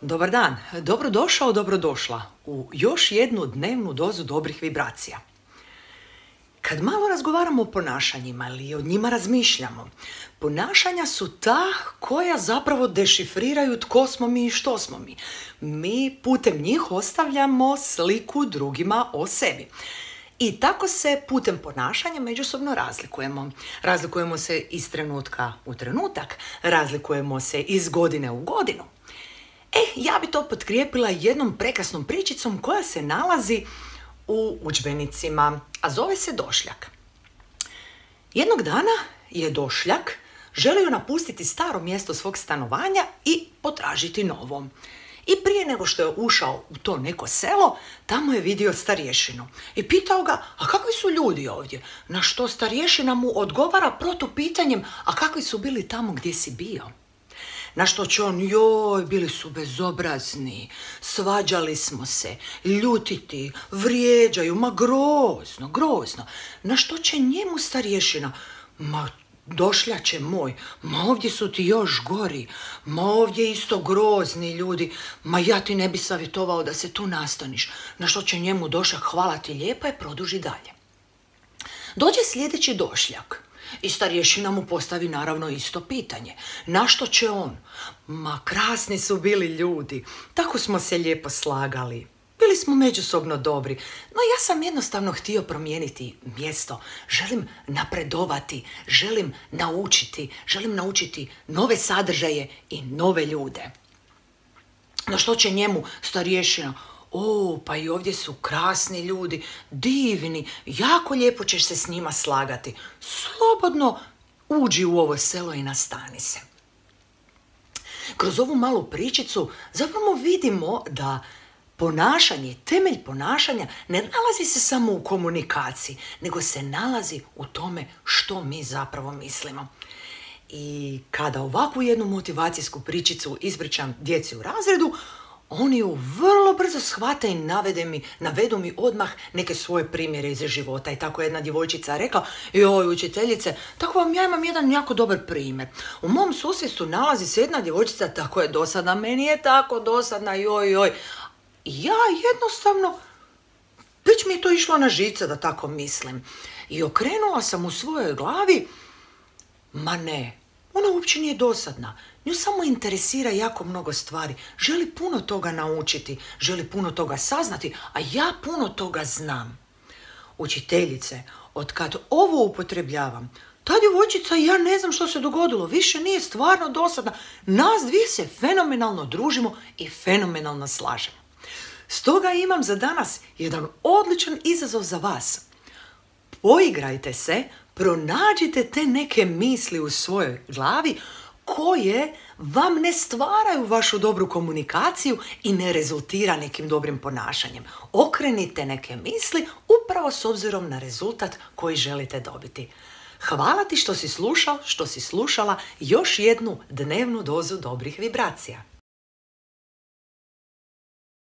Dobar dan, dobrodošao, dobrodošla u još jednu dnevnu dozu dobrih vibracija. Kad malo razgovaramo o ponašanjima ili o njima razmišljamo, ponašanja su ta koja zapravo dešifriraju tko smo mi i što smo mi. Mi putem njih ostavljamo sliku drugima o sebi. I tako se putem ponašanja međusobno razlikujemo. Razlikujemo se iz trenutka u trenutak, razlikujemo se iz godine u godinu. Ja bi to potkrijepila jednom prekrasnom pričicom koja se nalazi u udžbenicima, a zove se Došljak. Jednog dana je Došljak želio napustiti staro mjesto svog stanovanja i potražiti novo. I prije nego što je ušao u to neko selo, tamo je vidio starješinu i pitao ga, a kakvi su ljudi ovdje? Na što starješina mu odgovara protupitanjem, a kakvi su bili tamo gdje si bio? Na što će on, bili su bezobrazni, svađali smo se, ljutiti, vrijeđaju, ma grozno. Na što će njemu starješina, ma Došljače moj, ma ovdje su ti još gori, ma ovdje isto grozni ljudi, ma ja ti ne bi savjetovao da se tu nastaniš. Na što će njemu Došljak, hvala ti lijepa, i produži dalje. Dođe sljedeći Došljak i starješina mu postavi naravno isto pitanje. Na što će on? Ma krasni su bili ljudi, tako smo se lijepo slagali. Bili smo međusobno dobri, no ja sam jednostavno htio promijeniti mjesto. Želim napredovati, želim naučiti nove sadržaje i nove ljude. Na što će njemu starješina? Pa i ovdje su krasni ljudi, divni, jako lijepo ćeš se s njima slagati. Slobodno uđi u ovo selo i nastani se. Kroz ovu malu pričicu zapravo vidimo da ponašanje, temelj ponašanja ne nalazi se samo u komunikaciji, nego se nalazi u tome što mi zapravo mislimo. I kada ovakvu jednu motivacijsku pričicu ispričam djeci u razredu, oni ju vrlo brzo shvate i navedu mi odmah neke svoje primjere iz života. I tako jedna djevojčica rekla, učiteljice, tako ja imam jedan jako dobar primjer. U mom susjedstvu nalazi se jedna djevojčica, tako je dosadna, meni je tako dosadna, I ja jednostavno, već mi je to išlo na žice da tako mislim. I okrenula sam u svojoj glavi, ma ne, ona uopće nije dosadna. Nju samo interesira jako mnogo stvari. Želi puno toga naučiti, želi puno toga saznati, a ja puno toga znam. Učiteljice, otkad ovo upotrebljavam, ta djevojčica i ja ne znam što se dogodilo, više nije stvarno dosadna. Nas dvije se fenomenalno družimo i fenomenalno slažemo. Stoga imam za danas jedan odličan izazov za vas. Poigrajte se, pronađite te neke misli u svojoj glavi koje vam ne stvaraju vašu dobru komunikaciju i ne rezultira nekim dobrim ponašanjem. Okrenite neke misli upravo s obzirom na rezultat koji želite dobiti. Hvala ti što si slušao, što si slušala još jednu dnevnu dozu dobrih vibracija.